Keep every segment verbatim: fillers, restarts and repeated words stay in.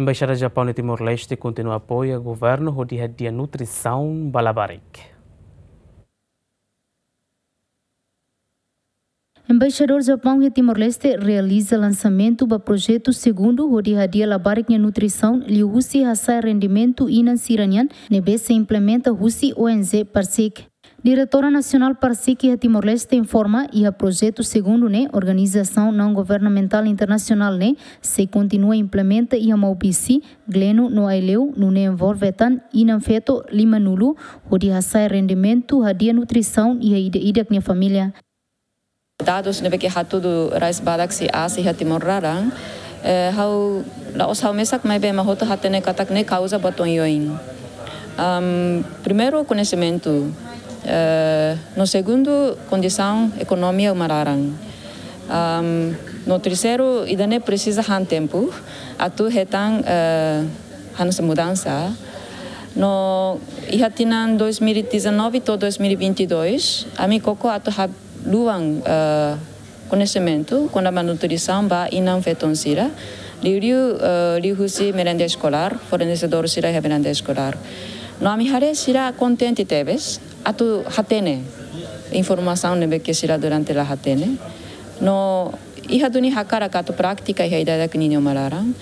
Embaixada Japaun iha Timor-Leste kontinua apoia governu hodi hadi'a nutrisaun ba labarik. Embaixadór Japaun iha Timor-Leste realiza lansamentu ba projetu segundu hodi hadi'a labarik nia nutrisaun liuhusi hasa'e rendimentu inan sira-nian ne'ebé sei implementa husi O N G PARCIC. Diretora Nasionál PARCIC iha Timor-Leste informa, iha projetu segundu ne'e organizasaun naun-governamentál internasionál ne'e sei kontinua implementa iha Maubisse, Gleno no Aileu, nune'e envolve tan inan-feto limanulu, hodi hasa'e rendimentu hadi'a nutrisaun iha ida-idak nia família. Dadus ne'ebé ke hatudu rai badak sei aas iha Timor laran, eh, ha'u, la'ós ha'u mesak maibé ema hotu hatene katak ne'e kauza buat oioin. Am, primeiru, koñesimentu. Eh, no segundu, kondisaun ekonomia uma laran. Am, no terseiru, ida-ne'e presiza han tempu atu hetan, eh, hanesan mudansa. No iha tinan dois mil e dezanove to'o dois mil e vinte e dois, ami koko atu haluan, eh, koñesimentu kona-ba nutrisaun ba inan-feton sira, liuliu, eh, liuhusi merenda eskolár, fornesedór sira iha merenda eskolár. No ami haree sira kontente tebes atu hatene informasaun ne'ebé ke sira durante la hatene. No iha duni hakarak atu prátika iha ida-idak ninia uma laran.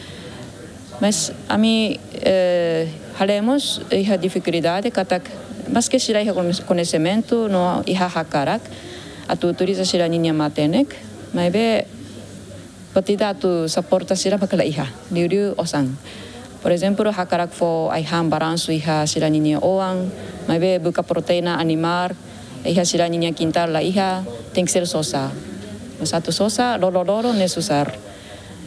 Mas ami, eh, haree mós iha difikuldade katak, maske sira iha koñes-, koñesimentu no iha hakarak atu utiliza sira-ninia matenek, maibé buat ida atu suporta sira maka la iha, liuliu osan. Por ezemplu, hakarak fó ai-han baransu iha sira-ninia oan, maibé buka proteína animál iha sira-ninia kintál la iha, tenke ser sosa. Mas atu sosa, loroloron ne'e susar.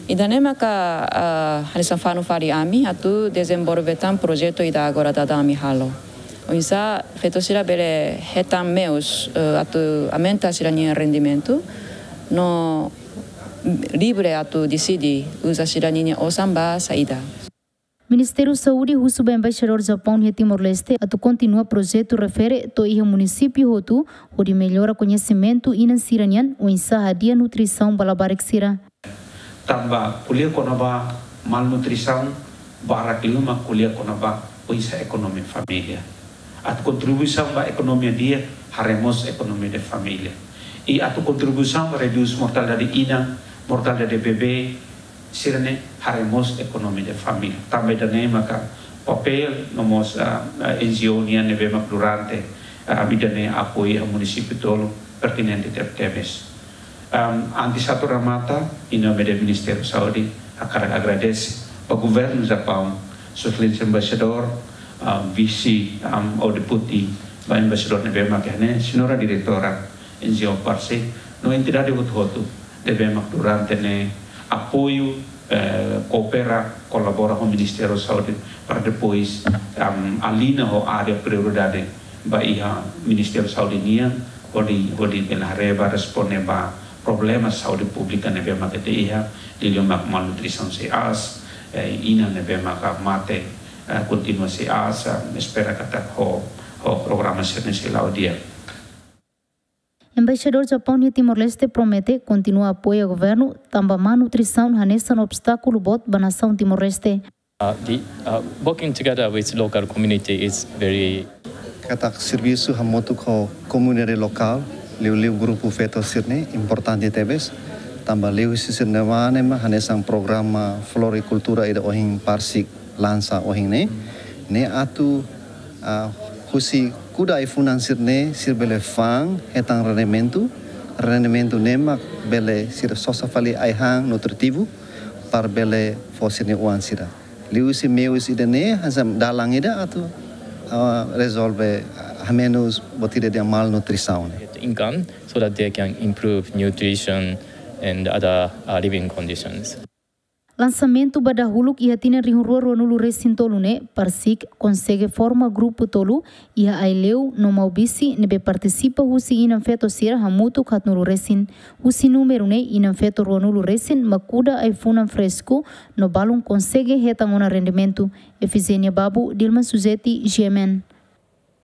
Ida-ne'e maka, ah, hanesan fanu fali ami atu dezenvolve tan projetu ida agora daudaun ami halo. Oinsá feto sira bele hetan meius, eh, atu aumenta sira-nia rendimentu, no livre atu deside uza sira-ninia osan ba saida. Ministériu Saúde husu ba Embaixadór Japaun iha Timor-Leste atu kontinua projetu refere to'o iha munisípiu hotu, hodi mellora koñesimentu inan sira-nian oinsá hadi'a nutrisaun ba labarik sira. Tanba ko'alia kona-ba malnutrisaun, barak liu mak ko'alia kona-ba oinsá ekonomia família. Atu kontribuisaun ba ekonomia di'ak, haree mós ekonomia de família. I atu kontribuisaun ba redús mortalidade inan, mortalidade bebé, sira-ne'e haree mós ekonomia de família. Tanba ida-ne'e maka papél no mós, ah, ah, N G O nian ne'ebé mak durante, ah, ida-ne'e apoiu iha munisípiu tolu pertinente tebetebes. Am, antes atu remata, em nome do Ministério da Saúde, hakarak agradese ba Governu Japaun, Sua Exelénsia Embaixadór, am, vise, am, ho deputi ba embaixadór ne'ebé mak iha ne'e, señora diretora N G O PARCIC, no entidade hotu-hotu ne'ebé mak durante ne'e apoiu, eh, koopera, kolabora ho Ministériu Saúde para depois, am, alinha ho área prioridade ba iha Ministériu Saúde nian, hodi, hodi bele haree ba responde ba problema saúde públika ne'ebé mak ita iha, liuliu mak malnutrisaun sei aas, eh, inan ne'ebé mak mate, eh, kontinua sei aas, eh, espera katak ho, ho programa sira-ne'e sei la'o di'ak. Embaixadór Japaun iha Timor-Leste promete kontinua apoia governu, tanba malnutrisaun hanesan obstákulu boot ba nasaun Timor-Leste. Uh, the, uh, working together with local community is very Katak servisu hamutuk ho komunidade lokál, liuliu grupu feto sira-ne'e importante tebes. Tanba liuhusi sira-nia mane mak hanesan programa florikultura ida ohin PARCIC lansa ohin ne'e. Ne'e atu, ah, husi kuda ai-funan sira-ne'e, sira bele fa'an hetan rendimentu. Rendimentu ne'e mak bele sira sosa fali ai-han nutritivu para bele fó sira-nia oan sira. Liuhusi meius ida-ne'e hanesan dalan ida atu, ah, rezolve, ah, hamenus buat ida dehan malnutrisaun ne'e. Income so that they can improve nutrition and other, uh, living conditions. Lansamentu ba dahuluk iha tinan rihun rua ruanulu resin tolu ne'e, PARCIC konsege forma grupu tolu iha Aileu no Maubisse ne'ebé partisipa husi inan feto sira hamutuk haatnulu resin. Husi númeru ne'e inan feto ruanulu resin mak kuda ai-funan fresku no balun konsege hetan ona rendimentu. Efigénia Babu, Dilma Suzeti, G M N.